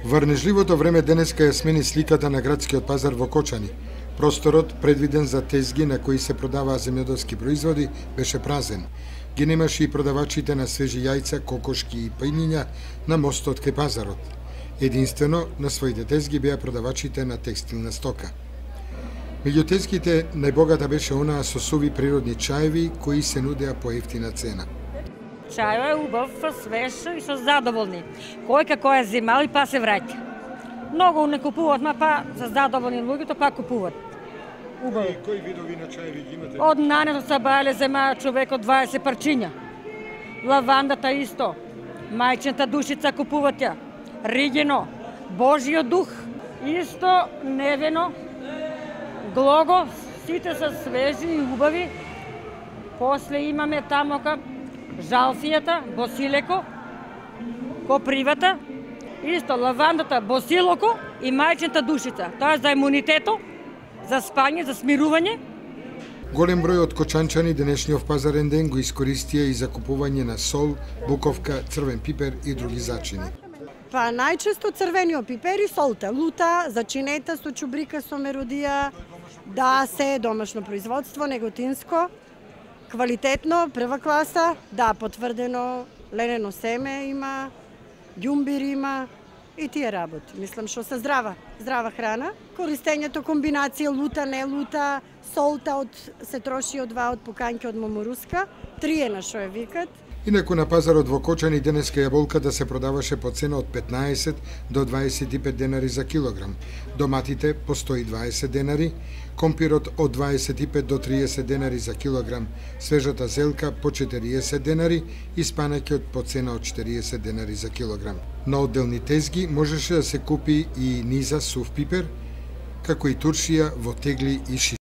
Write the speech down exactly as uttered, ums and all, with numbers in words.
Врнежливото време денеска ја смени сликата на градскиот пазар во Кочани. Просторот, предвиден за тезги на кои се продаваа земјоделски производи, беше празен. Ги немаше и продавачите на свежи јајца, кокошки и пајниња на мостот кај пазарот. Единствено, на своите тезги беа продавачите на текстилна стока. Меѓу тезгите најбогата беше онаа со суви природни чаеви кои се нудеа по ефтина цена. Чајот е убав, свеж и со задоволни. Кој како е земал и па се враќа. Многу не купуваат, ма па за задоволни луѓето па купуваат. Убаво. И кои видови на чаеви ги имате? Од нането са бајле зема човек од дваесет парчиња. Лавандата исто. Мајчината душица купуваат ја. Ригино, Божиот дух, исто невено, глого, сите се свежи и убави. После имаме тамока жалфијата, босилеко, копривата, исто лавандата, босилоко и мајчината душица. Тоа е за имунитето, за спање, за смирување. Голем број од кочанчани денешниот пазарен ден го искористија и за купување на сол, буковка, црвен пипер и други зачини. Па најчесто црвениот пипер и солта, лута, зачинета со чубрика со меродија, да се е домашно производство, неготинско, квалитетно, прва класа, да, потврдено, ленено семе има, ѓумбир има и тие работи. Мислам што се здрава, здрава храна. Користењето комбинација лута, не лута, солта од се троши од два од покањки од моморуска, трие на што е викат. Инаку на пазарот во Кочани денеска јаболката се продаваше по цена од петнаесет до дваесет и пет денари за килограм, доматите по сто и дваесет денари, компирот од дваесет и пет до триесет денари за килограм, свежата зелка по четириесет денари и спанаќот по цена од четириесет денари за килограм. На одделни тезги можеше да се купи и низа сув пипер, како и туршија во тегли и шиши.